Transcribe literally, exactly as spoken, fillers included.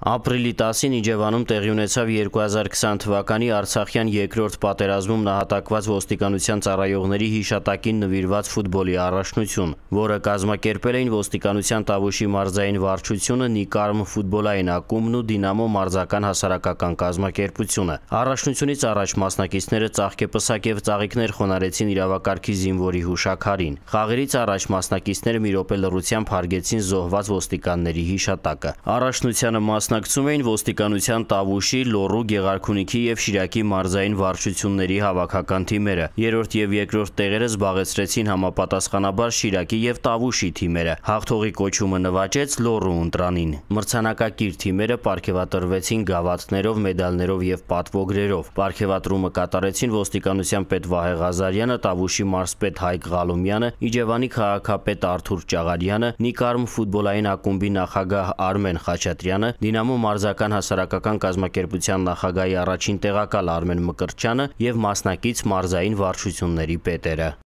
Ապրիլի տասին Իջևանում տեղի ունեցավ երկու հազար քսան թվականի Արցախյան երկրորդ պատերազմում նահատակված ոստիկանության ծառայողների հիշատակին նվիրված ֆուտբոլի առաջնություն, որը կազմակերպել էին ոստիկանության Տավուշի մարզային վարչությունը, Նիկարմ ֆուտբոլային ակումբն ու Դինամո մարզական հասարակական կազմակերպությունը։ Առաջնությունից առաջ մասնակիցները ծաղկեպսակ եւ ծաղիկներ խոնարհեցին իրավակարգի զինվորի հուշաքարին։ Խաղերից առաջ մասնակիցները մի րոպե լռությամբ հարգեցին զոհված ոստիկանների հիշատակը։ Առաջնությանը մասնակցում էին ոստիկանության Տավուշի, Լոռու, Գեղարքունիքի եւ Շիրակի մարզային վարչությունների հավաքական թիմերը։ Երրորդ եւ երկրորդ տեղերը զբաղեցրեցին համապատասխանաբար Շիրակի եւ Տավուշի թիմերը։ Հաղթողի կոչումը նվաճեց Լոռու ընտրանին։ Մրցանակակիր թիմերը պարգևատրվեցին գավաթներով, մեդալներով եւ պատվոգրերով։ Պարգևատրումը կատարեցին ոստիկանության պետ Վահե Ղազարյանը, Տավուշի մարզպետ Հայկ Ղալումյանը, Իջևանի քաղաքապետ Արթուր Ճաղարյանը, Նիկարմ ֆուտբոլային ակումբի նախագահ Արմեն Խաչատրյանը, Դինամո մարզական հասարակական կազմակերպության նախագահի առաջին տեղակալ Արմեն Մկրտչյանը եւ մասնակից մարզային վարչությունների պետերը։